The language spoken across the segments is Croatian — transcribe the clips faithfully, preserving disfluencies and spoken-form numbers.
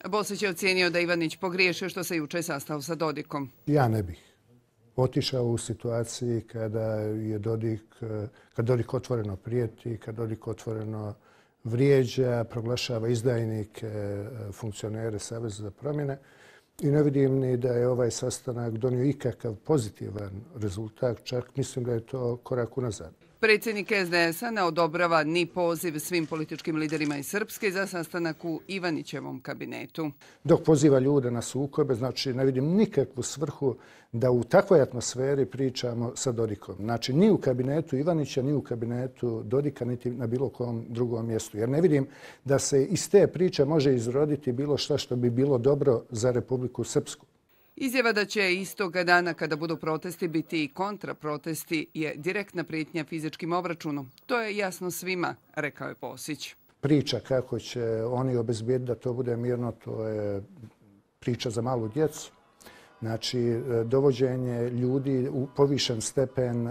Bosić je ocijenio da Ivanić pogriješio što se juče sastao sa Dodikom. Ja ne bih otišao u situaciji kada je Dodik, kad Dodik otvoreno prijeti, kad Dodik otvoreno vrijeđa, proglašava izdajnike, funkcionere Saveza za promjene. I ne vidim ni da je ovaj sastanak donio ikakav pozitivan rezultat, čak mislim da je to korak unazad. Predsjednik S D S-a ne odobrava ni poziv svim političkim liderima iz Srpske za sastanak u Ivanićevom kabinetu. Dok poziva ljude na sukobe, znači ne vidim nikakvu svrhu da u takvoj atmosferi pričamo sa Dodikom. Znači ni u kabinetu Ivanića, ni u kabinetu Dodika, niti na bilo kom drugom mjestu. Jer ne vidim da se iz te priče može izroditi bilo šta što bi bilo dobro za Republiku Srpsku. Izjava da će istoga dana kada budu protesti biti i kontraprotesti je direktna prijetnja fizičkim obračunom. To je jasno svima, rekao je Bosić. Priča kako će oni obezbijediti da to bude mirno, to je priča za malu djecu. Znači, dovođenje ljudi u povišen stepen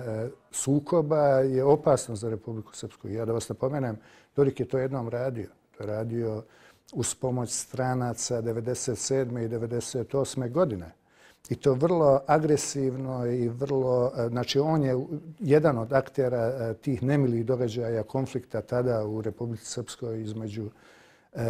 sukoba je opasno za Republiku Srpsku. Ja da vas napomenem, Dodik je to jednom radio. To je radio uz pomoć stranaca devedeset sedme i devedeset osme godine. I to vrlo agresivno i vrlo... Znači, on je jedan od aktera tih nemilih događaja konflikta tada u Republici Srpskoj između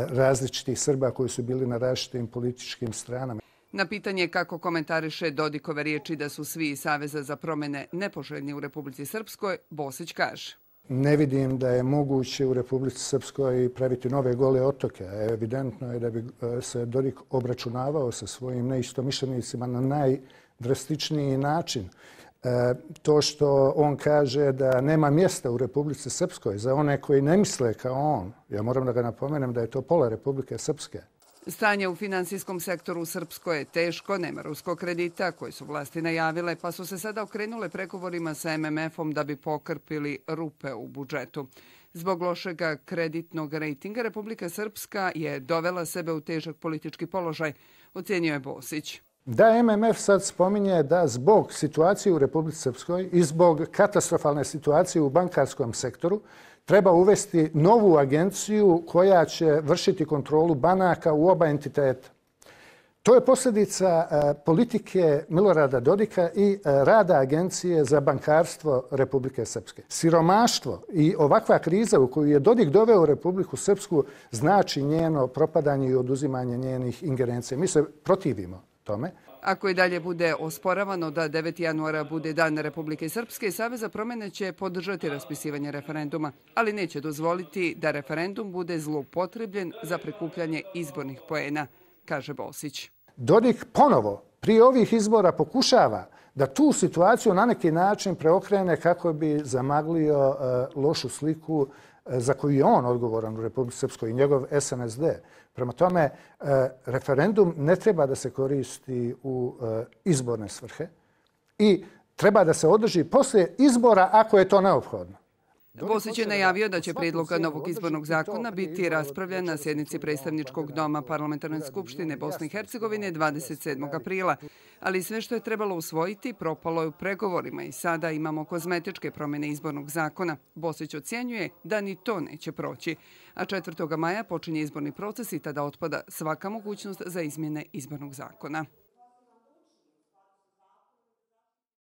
različitih Srba koji su bili na različitim političkim stranama. Na pitanje kako komentariše Dodikove riječi da su svi iz Saveza za promjene nepoželjni u Republici Srpskoj, Bosić kaže. Ne vidim da je moguće u Republici Srpskoj praviti nove gole otoke. Evidentno je da bi se Dodik obračunavao sa svojim neistomišljenicima na najdrastičniji način. To što on kaže da nema mjesta u Republici Srpskoj za one koji ne misle kao on, ja moram da ga napomenem da je to pola Republike Srpske. Stanje u finansijskom sektoru u Srpskoj je teško, nema ruskog kredita koje su vlasti najavile, pa su se sada okrenule pregovorima sa M M F-om da bi pokrpili rupe u budžetu. Zbog lošega kreditnog rejtinga Republika Srpska je dovela sebe u težak politički položaj, ocjenio je Bosić. Da M M F sad spominje da zbog situacije u Republici Srpskoj i zbog katastrofalne situacije u bankarskom sektoru treba uvesti novu agenciju koja će vršiti kontrolu banaka u oba entiteta. To je posljedica politike Milorada Dodika i rada Agencije za bankarstvo Republike Srpske. Siromaštvo i ovakva kriza u koju je Dodik doveo Republiku Srpsku znači njeno propadanje i oduzimanje njenih ingerencija. Mi se protivimo tome. Ako i dalje bude osporavano da deveti januara bude Dan Republike Srpske, Savez za promjene će podržati raspisivanje referenduma, ali neće dozvoliti da referendum bude zloupotrebljen za prikupljanje izbornih poena, kaže Bosić. Dodik ponovo prije ovih izbora pokušava da tu situaciju na neki način preokrene kako bi zamaglio lošu sliku za koju je on odgovoran u Republici Srpskoj i njegov S N S D. Prema tome, referendum ne treba da se koristi u izborne svrhe i treba da se održi poslije izbora ako je to neophodno. Bosić je najavio da će prijedlog novog izbornog zakona biti raspravljen na sjednici predstavničkog doma Parlamentarne skupštine Bosne i Hercegovine dvadeset sedmog aprila. Ali sve što je trebalo usvojiti propalo je u pregovorima i sada imamo kozmetičke promjene izbornog zakona. Bosić ocjenjuje da ni to neće proći. A četvrtog maja počinje izborni proces i tada otpada svaka mogućnost za izmjene izbornog zakona.